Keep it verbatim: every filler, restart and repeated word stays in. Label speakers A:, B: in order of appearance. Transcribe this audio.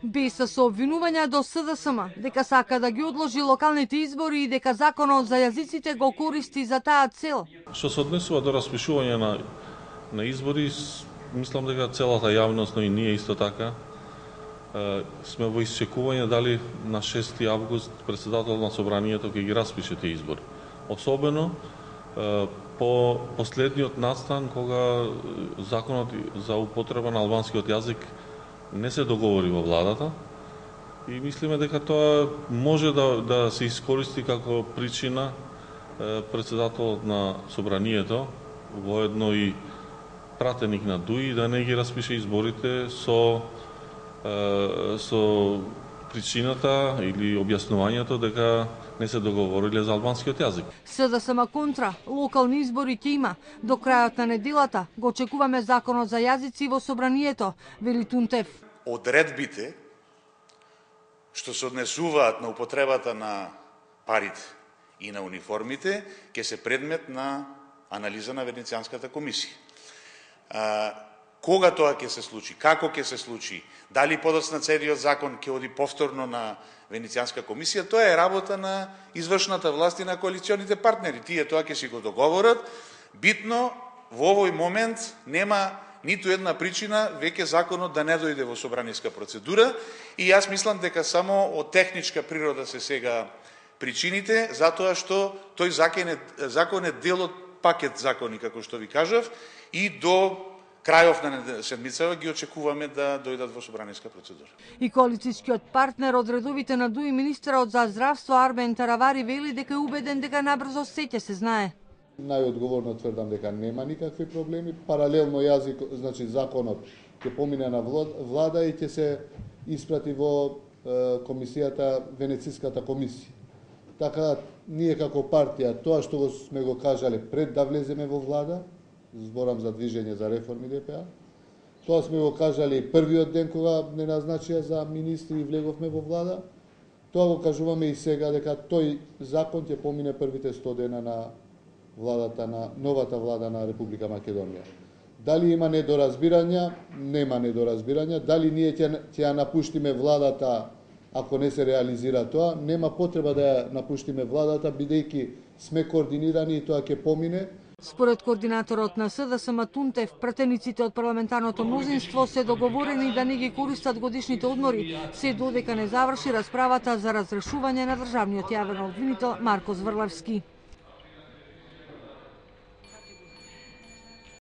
A: Без сообвинувања до С Д С М дека сака да ги одложи локалните избори и дека законот за јазиците го користи за таа цел.
B: Што се однесува до распишување на на избори, мислам дека целата јавност, но и ние исто така сме во исчекување дали на шести август председател на собранието ќе ги распише тие избори. Особено по последниот настан кога законот за употреба на албанскиот јазик не се договори во владата и мислиме дека тоа може да да се искористи како причина председателот на собранието воедно и пратеник на ДУИ да не ги распише изборите со со причината или објаснувањето дека не се договориле за албанскиот јазик.
A: С Д С М контра, локални избори ќе има. До крајот на неделата го очекуваме законот за јазици во собранието, вели Тунтев.
C: Одредбите што се однесуваат на употребата на парите и на униформите ќе се предмет на анализа на Венецијанската комисија. Кога тоа ќе се случи, како ќе се случи, дали подоцна целиот закон ќе оди повторно на Венецијанска комисија, тоа е работа на извршната власт и на коалиционите партнери. Тие тоа ќе си го договорат. Битно, во овој момент нема ниту една причина веќе законот да не дојде во собраниска процедура и јас мислам дека само од техничка природа се сега причините, затоа што тој закон е, закон е дел од пакет закони, како што ви кажав, и до крајов на седмицава ги очекуваме да дојдат во собраниска процедура.
A: И коалицијскиот партнер од редовите на ДУИ, министерот за здравство Арбен Таравари, вели дека е убеден дека набрзо се ќе се знае.
D: Најодговорно тврдам дека нема никакви проблеми. Паралелно јазик, значи законот ќе помине на влада и ќе се испрати во комисијата, Венецијската комисија. Така, ние како партија, тоа што го сме го кажале пред да влеземе во влада, зборам за движење за реформи Д П А, тоа сме го кажали првиот ден кога не назначија за министри и влеговме во влада, тоа го кажуваме и сега дека тој закон ќе помине првите сто дена на владата на новата влада на Република Македонија. Дали има недоразбирања? Нема недоразбирања. Дали ние ќе ќе ја напуштиме владата ако не се реализира тоа? Нема потреба да ја напуштиме владата, бидејќи сме координирани и тоа ќе помине.
A: Според координаторот на С Д С М Тунтев, пратениците од парламентарното мнозинство се договорени да не ги користат годишните одмори, се додека не заврши расправата за разрешување на државниот јавен обвинител Марко Зврлевски.